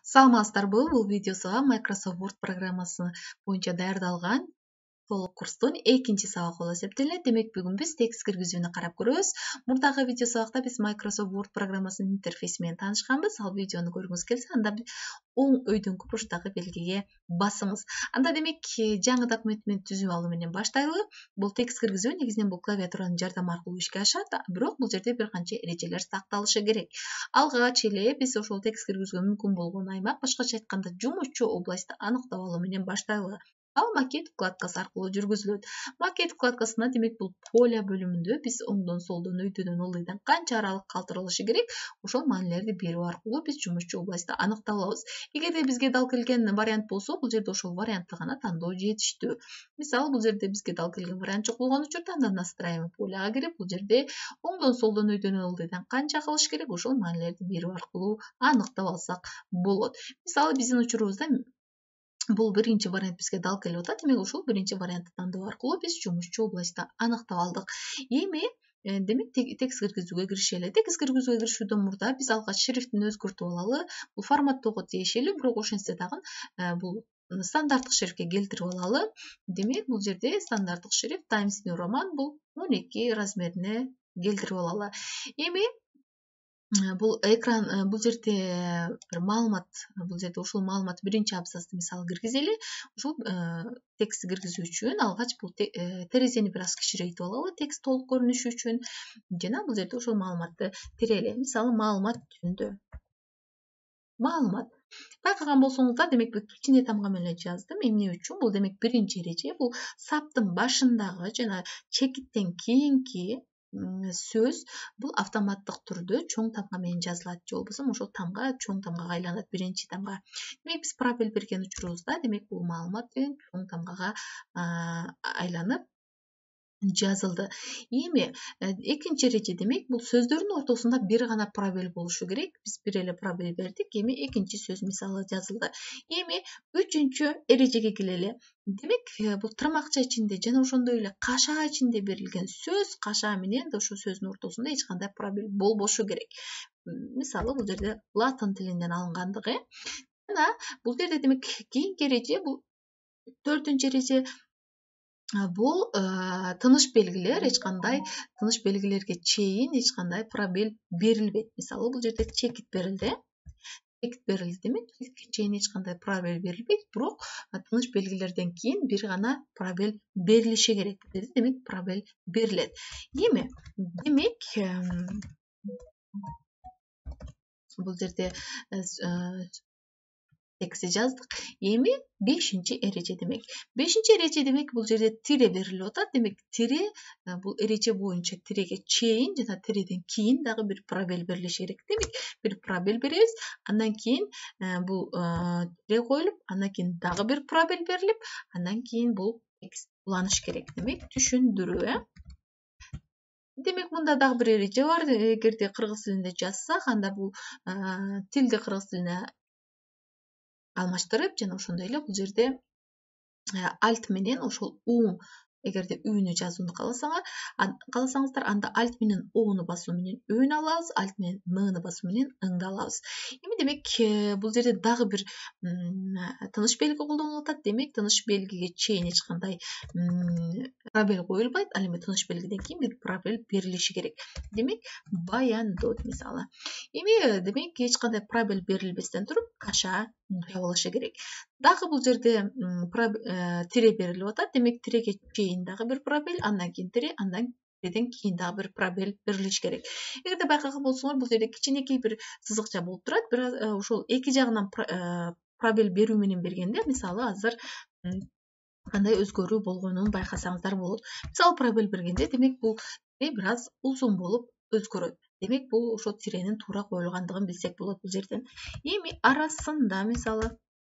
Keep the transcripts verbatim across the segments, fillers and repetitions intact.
Саламатсыздарбы? Бул видеосуга Microsoft Word программасы боюнча даярдалган толук курстун экинчи сабагы болуп эсептелет. Демек, бүгүн биз текст киргизүүнү карап көрөбүз. Мурдагы видео сабакта биз Microsoft Word программасынын интерфейси менен таанышканбыз. Ал видеону көргүңүз келсе, анда оң өйдөңкү бурчтагы белгиге басыңыз. Анда демек, жаңы документ менен түзүп алуу менен баштайлы. Бул текст киргизүү негизинен бул клавиатуранын жардамы аркылуу ишке ашат, бирок бул жерде бир канча эрежелер сакталышы керек. Алгач эле биз ошол текст киргизүүгө мүмкүн болгон аймак, башкача айтканда жумушчу областты аныктап алуу менен баштайлы. Ал макет вкладкасы аркылуу жүргүзүлөт. Макет вкладкасына демек бул поля бөлүмүндө биз оңдон солдон өйдөдөн ылдыйдан канча аралык калтырылышы керек, ошол маанилерди берүү аркылуу биз жумушчу областты аныктап алабыз. Эгерде бизге дал келген вариант болсо, бул жерде ошол вариантты гана тандоо жетиштүү. Мисалы, бул жерде бизге дал келген вариант жок болгон учурда анда настраиваемый поляга кирип, бул жерде оңдон солдон өйдөдөн ылдыйдан канча кылыш керек, ошол маанилерди берүү аркылуу аныктап алсак болот. Мисалы, биздин учурубузда бул биринчи вариант бизге дал келип атат. Демек, ошол биринчи вариантты тандоо аркылуу биз жумушчу областты аныктап алдык. Эми демек текст киргизүүгө киришели. Текст киргизүүгө киришүүдөн мурда биз алгач шрифтин өзгөртүп алалы. Бул форматтоого тиешелүү, бирок ошентсе дагы бул стандарттык шрифтке келтирип алалы. Демек, бул жерде стандарттык шрифт Times New Roman бул он эки размерине келтирип алалы. Эми бул экран, бул жерде бир маалымат, бул жерде ушул маалымат биринчи абзацты мисалы киргизели. Ушул текстти киргизүү үчүн алгач бул терезени бир аз кичирейтип алалы, текст толук көрүнүшү үчүн. Жана бул жерде ошол маалыматты терели. Мисалы, маалымат түзүндү. Маалымат. Байкаган болсоңуздар, демек бул кичине тамга менен жаздым. Эмне үчүн? Бул демек биринчи эреже, бул саптын башындагы жана чекиттен кийинки сөз бул автоматтык түрдө чоң тамга менен жазылат, же болбосо ошол тамга чоң тамгага айланат, биринчи тамга. Демек, биз пробел берген учурубузда, демек бул маалымат деген чоң тамгага айланып жазылды. Эми экинчи эреже, демек, бул сөздөрдүн ортосунда бир гана пробел болушу керек. Биз бир эле пробел бердик. Эми экинчи сөз мисалы жазылды. Эми үчүнчү эрежеге келели. Демек, бул тырмакча ичинде жана ошондой эле кашаа ичинде берилген сөз, кашаа менен ошол сөздүн ортосунда эч кандай пробел болбошу керек. Мисалы, бул жерде латын тилинен алынгандыгы. Жана бул жерде демек кийинки эреже, бул төртүнчү эреже, бул тыныч белгилер, эч кандай тыныч белгилерге чейин эч кандай пробел берилбейт. Мисалы, бул жерде чекит берилди. Чекит берилди, демек, чекитке чейин эч кандай пробел берилбейт, бирок тыныч белгилерден кийин бир гана пробел берилиши керек. Демек, пробел берилет. Эми, демек, бул жерде текстти жаздык. Эми бешинчи эреже, демек. бешинчи эреже, демек, бул жерде тире берилип атат. Демек, тире бул эреже боюнча тиреге чейин жана тиреден кийин дагы бир пробел берилиши керек. Демек, бир пробел беребиз, андан кийин бул тире коюлуп, андан кийин дагы бир пробел берилип, андан кийин бул текст уланыш керек. Демек, түшүндүрүү, э? Демек, мында дагы бир эреже бар. Эгерде кыргыз тилинде жазсак, анда бул тилди кыргыз тилине алмаштырып, жана ошондой эле бул жерде alt менен ошол у, эгерде үнү жазууну кааласаңар, кааласаңыздар, анда alt менен ону басуу менен өөнү алабыз, alt менен ны басуу менен ыңды алабыз. Эми, демек, бул жерде дагы бир тыныч белги колдонулуп атат. Демек, тыныч белгиге чейин эч кандай пробел коюлбайт, ал эми тыныч белгиден кийин бир пробел берилиши керек. Демек, баяндоо мисалы. Эми, демек, эч кандай пробел берилбестен туруп, кашаа жабылышы керек. Дагы бул жерде тире берилип атат. Демек, тиреге чейин дагы бир пробел, андан кийин тире, андан тиреден кийин дагы бир пробел берилиш керек. Эгерде байкаган болсоңор, бул жерде кичинекей бир сызыкча болуп турат. Бирок ошол эки жагынан пробел берүү менен бергенде, мисалы, азыр кандай өзгөрүү болгонун байкасаңыздар болот. Мисалы, пробел бергенде, демек, бул тире бир аз узун болуп өзгөрөт. Демек, бул ошо тиренин туура коюлгандыгын билсек болот бул жерден. Эми арасында, мисалы,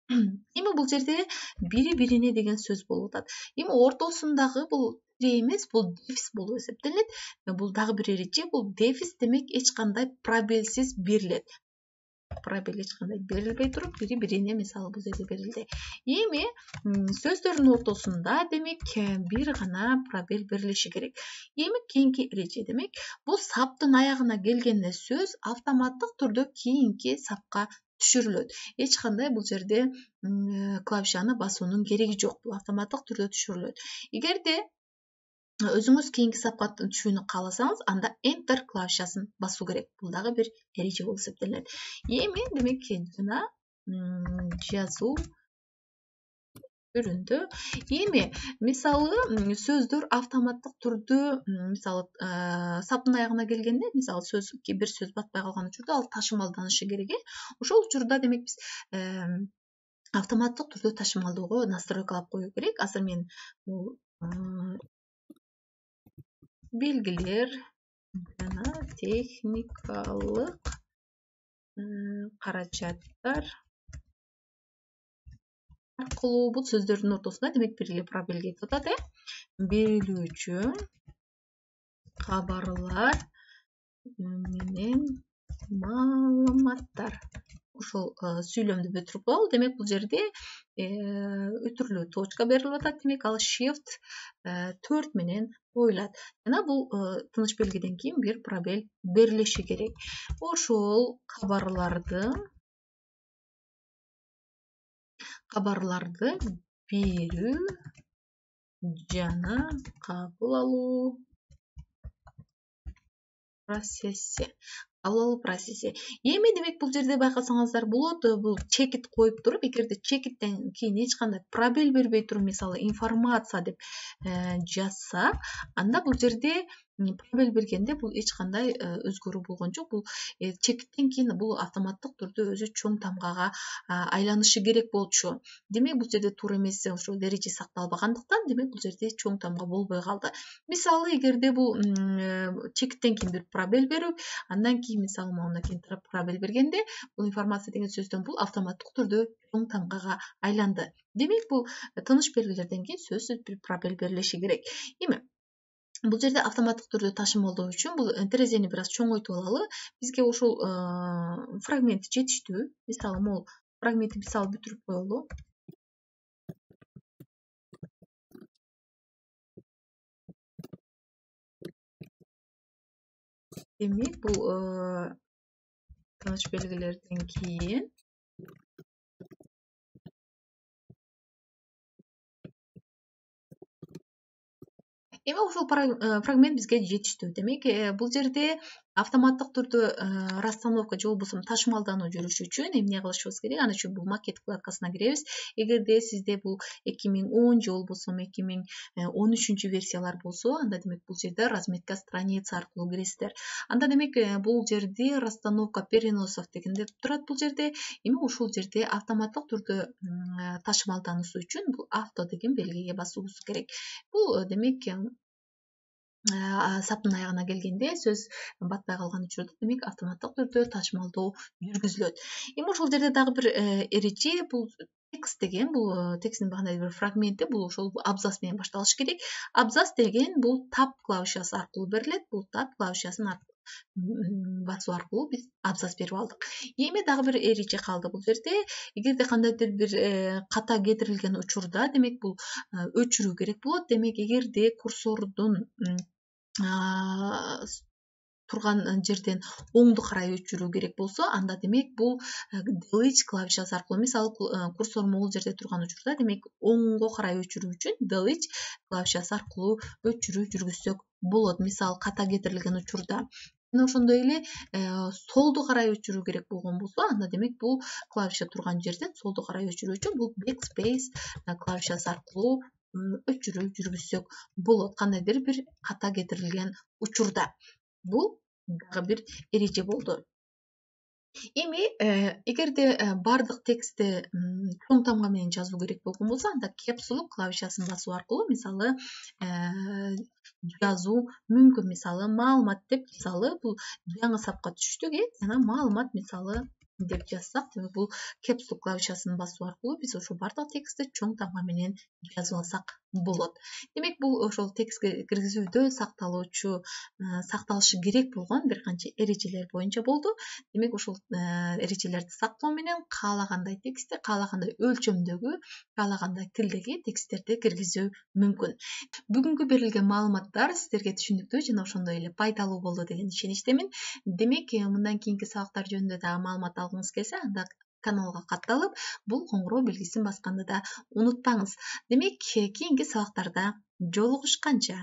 эми бул жерде бири-бирине деген сөз болуп атат. Эми ортосундагы бул тире эмес, бул дефис болуп эсептелет. Бул дагы бир эреже, бул дефис, демек, эч кандай пробелсиз берилет. Пробел эч кандай берилбей туруп, бири-бирине мисалы бул жерде берилди. Эми сөздөрдүн ортосунда, демек, бир гана пробел берилиши керек. Эми кийинки эреже, демек, бул саптын аягына келгенде сөз автоматтык түрдө кийинки сапка түшүрүлөт. Эч кандай бул жерде клавишаны басуунун кереги жок. Бул автоматтык түрдө түшүрүлөт. Эгерде өзүңүз кийинки сапка түшүүнү кааласаңыз, анда Enter клавишасын басуу керек. Бул дагы бир эреже болуп эсептелет. Эми демек жана жазуу түрүндө эми мисалы сөздөр автоматтык түрдө мисалы саптын аягына келгенде, мисалы сөз бир сөз батпай калган учурда ал ташымалданышы керек. Ошол учурда демек биз автоматтык түрдө ташымалдоого настройкалап коюу керек. Азыр мен бул белгилер жана техникалык каражаттар аркылуу бул сөздөрдүн ортосунда демек бир эле пробел кетип атат. Э берилүүчү кабарлар менен маалыматтар. Ошол сүйлөмдү бүтүрүп коелу. Демек бул жерде өтүрлүү точка берилип атат. Демек ал shift төрт менен коюлат. Жана бул тыныч белгиден кийин бир пробел берилиши керек. Ошол кабарларды кабарларды берүү жана кабыл алуу процесси. Кабыл алуу процесси. Эми демек бул жерде байкасаңыздар болот, бул чекит коюп туруп, эгерде чекиттен кийин эч кандай пробел бербей туруп, мисалы информация деп жазса, анда бул жерде пробел бергенде бул эч кандай өзгөрүү болгон жок. Бул чекиттен кийин бул автоматтык түрдө өзү чоң тамгага айланышы керек болчу. Демек бул жерде туура эмес, ошол эреже сакталбагандыктан, демек бул жерде чоң тамга болбой калды. Мисалы, эгерде бул чекиттен кийин бир пробел берип, андан кийин мисалы мындан кийин пробел бергенде, бул информация деген сөздөн бул автоматтык түрдө чоң тамгага айланды. Демек бул тыныч белгилерден кийин сөзсүз бир пробел берилиши керек. Эми бул жерде автоматтык түрдө ташымалдоо үчүн бул терезени бир аз чоңойтуп алалы. Бизге ошол фрагмент жетиштүү. Мисалы, могул фрагментти мисалы бүтүрүп коелу. Демек бул тыныч белгилерден кийин эми ошол фрагмент бизге жетиштүү. Демек бул жерде автоматтык түрдө расстановка же болбосо ташымалдануу жүрүшү үчүн эмне кылышыбыз керек? Аны үчүн бул макет вкладкасына киребиз. Эгерде сизде бул эки миң он же болбосо эки миң он үчүнчү версиялар болсо, анда демек бул жерде разметка страница аркылуу киресиздер. Анда демек бул жерде расстановка переносов деген деп турат бул жерде. Эми ушул жерде автоматтык түрдө ташымалдануусу үчүн бул авто деген белгиге басуубуз керек. Бул демек саптын аягына келгенде сөз батпай калган учурда демек автоматтык түрдө ташымалдоо жүргүзүлөт. Эми ошол жерде дагы бир эреже, бул текст деген, бул тексттин кандайдыр бир фрагменти, бул ошол абзац менен башталышы керек. Абзац деген бул tab клавишасы аркылуу берилет. Бул tab клавишасын басуу аркылуу биз абзац берип алдык. Эми дагы бир эреже калды бул жерде. Эгерде кандайдыр бир ката кетирилген учурда, демек бул өчүрүү керек болот. Демек эгерде курсордун турган жерден оңду карай өчүрүү керек болсо, анда демек бул delete клавишасы аркылуу, мисалы курсор могул жерде турган учурда, демек оңго карай өчүрүү үчүн delete клавишасы аркылуу өчүрүү жүргүзсөк болот. Мисалы ката кетирилген учурда. Жана ошондой эле солду карай өчүрүү керек болгон болсо, анда демек бул клавиша турган жерден солду карай өчүрүү үчүн бул backspace клавишасы аркылуу өчүрүү жүргүзсөк болот. Кандайдыр бир ката кетирилген учурда. Бул дагы бир эреже болду. Эми эгерде бардык текстти чоң тамга менен жазуу керек болгон болсо, анда caps lock клавишасын басуу аркылуу мисалы жазуу мүмкүн. Мисалы маалымат деп, мисалы бул жаңы сапка түштүк, э жана маалымат мисалы деп жазсак, демек бул caps lock клавишасын басуу аркылуу биз ошол бардык текстти чоң тамга менен жазып алсак болот. Демек бул ошол текстке киргизүүдө сакталуучу, сакталышы керек болгон бир канча эрежелер боюнча болду. Демек ошол эрежелерди сактоо менен каалагандай текстти, каалагандай өлчөмдөгү, каалагандай тилдеги тексттерди киргизүү мүмкүн. Бүгүнкү берилген маалыматтар сиздерге түшүнүктүү жана ошондой эле пайдалуу болду деген ишеничтемин. Демек мындан кийинки сабактар жөнүндө дагы маалымат алгыңыз келсе, анда каналга катталып, бул коңгуроо белгисин басканды да унутпаңыз. Демек, кийинки сабактарда жолугушканча.